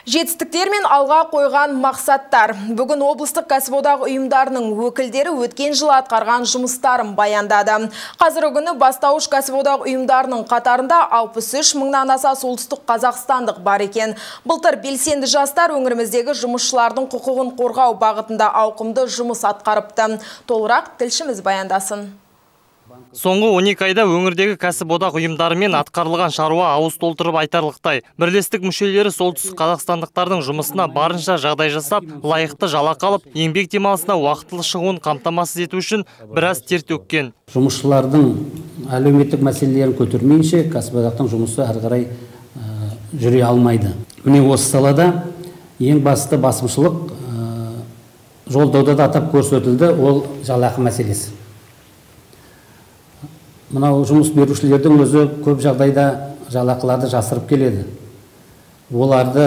Жетістіктер мен алға қойған мақсаттар. Бүгін облыстық кәсіподақ ұйымдарының өкілдері өткен жылы атқарған жұмыстарын баяндады. Қазіргі күні бастауыш кәсіподақ ұйымдарының қатарында 63 мыңнан аса солтүстік қазақстандық бар екен. Былтыр белсенді жастар өңіріміздегі жұмысшылардың құқығын қорғау бағытында ауқымды жұмыс атқарыпты. Толығырақ тілшіміз баяндасын. Соңғы 12 айда өңірдегі кәсіподақ ұйымдарымен атқарылған шаруа ауыз толтырып айтарлықтай. Бірлестік мүшелері солтүстік қазақстандықтардың жұмысына барынша жағдай жасап, лайықты жалақы алып, еңбек демалысына уақытылы шығуын қамтамасыз ету үшін біраз тер төккен. Жұмысшылардың әлеуметтік мәселелерін көтермейінше кәсіподақтың жұмысы әрі қарай жүре алмайды. Міне осы салада ең басты басымшылық жолдауда да атап көрсетілді, ол жалақы мәселесі. Мынау жұмыс берушілердің өзі көп жағдайда жалақыларды жасырып келеді. Оларды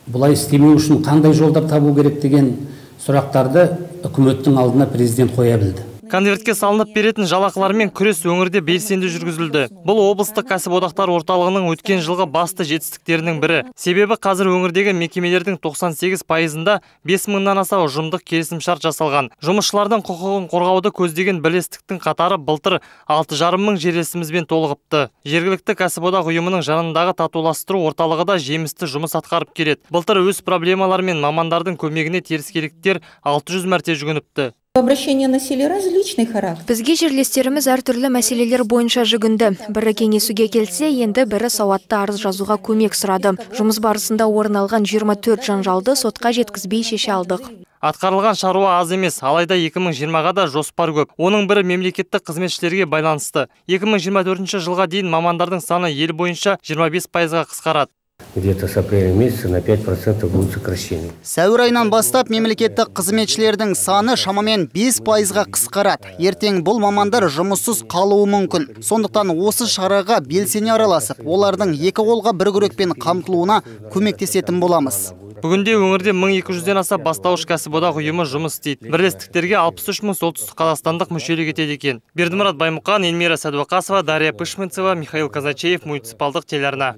бұлай істемеу үшін қандай жолдар табу керек деген сұрақтарды үкіметтің алдына президент қоя білді. Конвертке салынып беретін жалақылармен күрес өңірде белсенді жүргізілді. Бұл облыстық кәсіподақтар орталығының өткен жылғы басты жетістіктерінің бірі. Себебі қазір өңірдегі мекемелердің 98%-ында 5 мыңнан аса ұжымдық келісімшарт жасалған. Жұмысшылардың құқығын қорғауды көздеген бірлестіктің қатары былтыр 6,5 мың жерлесімізбен толығыпты. Жергілікті кәсіподақ ұйымының жанындағы татуластыру орталығы да жемісті жұмыс атқарып келеді. Былтыр өз проблемалары мен мамандардың көмегіне теріскейліктер 600 мәрте жүгініпті. Обращение населения различный характер. Бізге жерлестеріміз әртүрлі мәселелер бойынша жүгінді. Бірі кеңесуге келсе, енді бірі сауатты арыз жазуға көмек сұрады. Жұмыс барысында орын алған 24 жанжалды сотқа жеткізбей шеше алдық. Атқарылған шаруа аз емес, алайда 2020-ға да жоспар көп. Оның бірі мемлекеттік қызметшілерге байланысты. 2024 жылға дейін мамандардың саны ел бойынша 25%-ға қысқарады. Где-то с апреля месяца на 5% будет сокращение. Сәуір айынан бастап мемлекеттік қызметшілердің саны шамамен 5%-ға қысқарады. Ертең бұл мамандар жұмыссыз қалуы мүмкін. Сондықтан осы шараға белсене араласып, олардың екі қолға бір күрекпен қамтылуына көмектесетін боламыз. Бүгінде өңірде 1200-ден аса бастауыш кәсіподақ ұйымы жұмыс істейді. Бірлестіктерге 63 мың солтүстік қазақстандық мүшелік етеді екен. Бердімұрат Баймұқан, Эльмира Сәдуақасова, Дарья Пышманцева, Михаил Казачеев, муниципалдық телеарна.